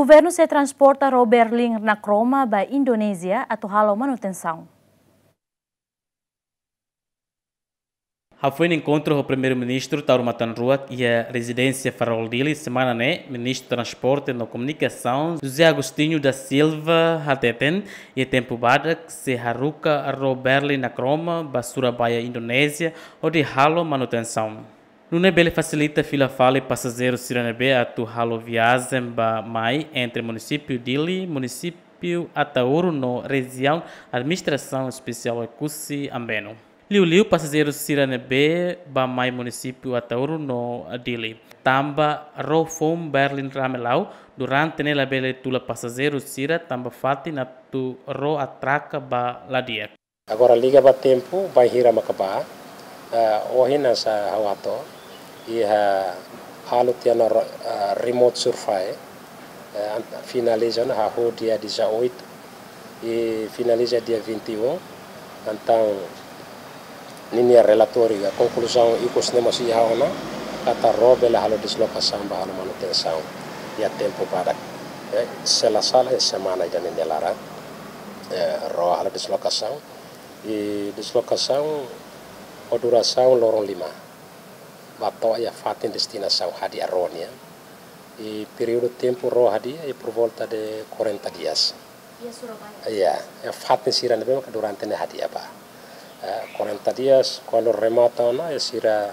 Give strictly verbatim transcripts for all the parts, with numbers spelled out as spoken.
Governu sei transporta ró Berlin Nakroma ba Indonézia atu halo manutensaun. Hafoin enkontru ho Primeiru-Ministru Taur Matan Ruak iha rezidénsia Farol Dili semana ne'e, Ministru Transporte no Komunikasaun José Agostinho da Silva hateten, iha tempu badak sei haruka ró Berlin Nakroma ba Surabaya, Indonézia, hodi halo manutensaun. Nune'e bele fasilita fila fali pasajeiru sira ne'ebé atu halo viajen bá mai entre munisípiu Dili, munisípiu Ataúru no rejiaun administrasaun espesiál Oekusi Ambeno. Liuliu pasajeiru sira ne'ebé bá mai munisípiu Ataúru no Dili. Tanba ró foun Berlin Ramelau, durante ne'e labele tula pasajeiru sira tanba fatin atu ró atraka ba la di'ak. Agora liga ba tempu, bainhira maka bá, eh, ohin hanesan ha'u hato'o, iha halo tiha ona ro-, eh, remote survey, eh, an-, finaliza ona hahú dia dezoito, i finaliza dia vinte e um, entaun ninia relatóriu, konkluzaun ikus ne'e mós iha ona, katak ró bele halo deslokasaun bá halo manutensaun iha tempu badak. Eh, se la sala iha semana ida-ne'e nia laran, eh, ró halo deslokasaun. I deslokasaun ho durasaun loron lima. Bá to'o iha fatin destinasaun hadi'a ró nian. I períodu tempu ró hadi'a i por volta de quarenta dias. Iha Surabaya? Iya, iha fatin sira ne'ebé maka durante ne'e hadi'a bá. Eh, quarenta dias, kuandu remata ona, iha sira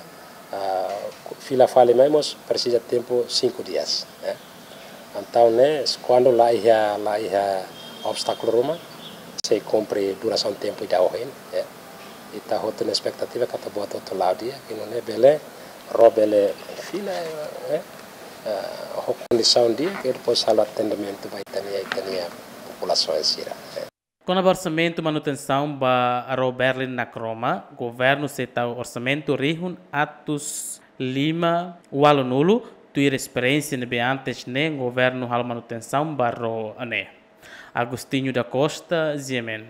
ah, fila fali mai mós presiza tempu cinco dias, eh. Entaun ne'e, kuandu la iha, la iha obstákulu ruma, sei kumpre durasaun tempu ida ohin, eh. Ita hotu ona espetativa katak buat hotu la'o di'ak, i nune'e bele, ró bele fila, eh, eh, ho kondisaun di'ak, i depois halo atendimentu ba ita-nia, ita-nia populasaun sira, eh. Kona-ba orsamentu manutensaun ba ró Berlin Nakroma, governu sei tau orsamentu rihun atus lima ualunulu, tuir esperiénsia ne'ebé antes ne'e governu halo manutensaun ba ró ne'e. Agostinho da Costa, G M N.